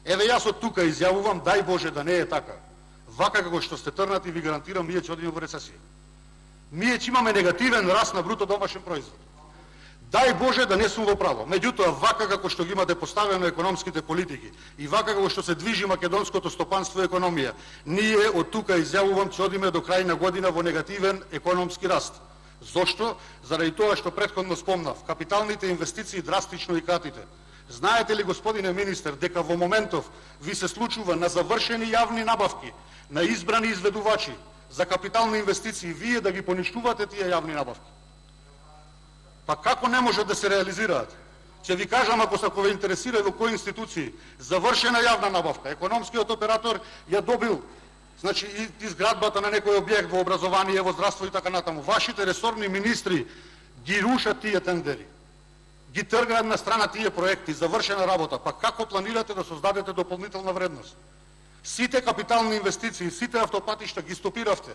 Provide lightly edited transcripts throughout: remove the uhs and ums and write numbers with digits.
Еве јас од тука изјавувам, дај Боже да не е така. Вака како што сте трнати, ви гарантирам, ние ќе одиме во рецесија. Ние ќе имаме негативен раст на бруто домашен производ. Дај Боже да не сум во право. Меѓутоа, вака како што ги имате поставено економските политики и вака како што се движи македонското стопанство и економија, ние од тука изјавувам ќе одиме до крај на година во негативен економски раст. Зошто? Заради тоа што претходно спомнав, капиталните инвестиции драстично и катите. Знаете ли, господине министер, дека во моментов ви се случува на завршени јавни набавки, на избрани изведувачи за капитални инвестиции, вие да ги поништувате тие јавни набавки? Па како не може да се реализираат? Ќе ви кажам, ако ве интересира во кои институции, завршена јавна набавка, економскиот оператор ја добил, значи и изградбата на некој објект во образование, во здравство и така натаму. Вашите ресорни министри ги рушат тие тендери, ги тргаат на страна тие проекти, завршена работа. Па како планирате да создадете дополнителна вредност? Сите капитални инвестиции, сите автопатишта ги стопиравте.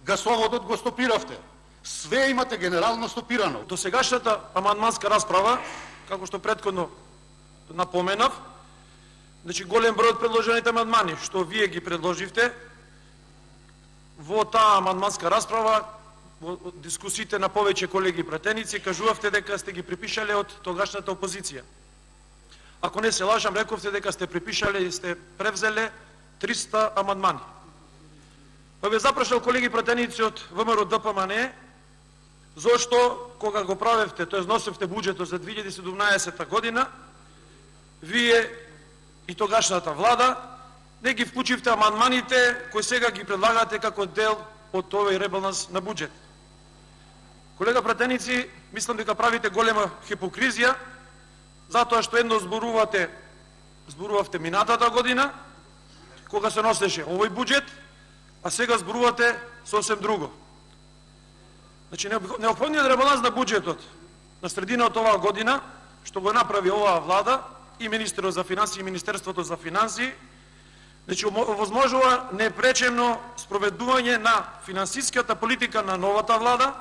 Гасоводот го стопиравте. Све имате генерално стопирано. До сегашната амандманска расправа, како што претходно напоменав, значи голем број од предложените амандмани што вие ги предложивте, во таа амандманска расправа, во дискусиите на повеќе колеги пратеници, кажувавте дека сте ги припишале од тогашната опозиција. Ако не се лажам, рековте дека сте припишале и сте превзеле 300 амандмани. Па ве запрашал колеги пратеници од ВМРО ДПМН, зошто кога го правевте, тоест носевте буџетот за 2017 година, вие и тогашната влада не ги вклучивте амандманите кои сега ги предлагате како дел од овој ребаланс на буџет. Колега пратеници, мислам дека правите голема хипокризија, затоа што едно зборувавте минатата година, кога се носеше овој буџет, а сега зборувате сосем друго. Значи, неопходниот ребаланс на буџетот на средината оваа година, што го направи оваа влада, и Министерот за финансии и Министерството за финансии, значи, овозможува непречемно спроведување на финансиската политика на новата влада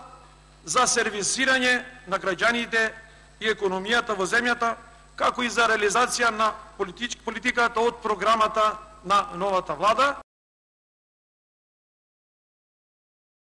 за сервисирање на граѓаните и економијата во земјата, како и за реализација на политиката од програмата на новата влада.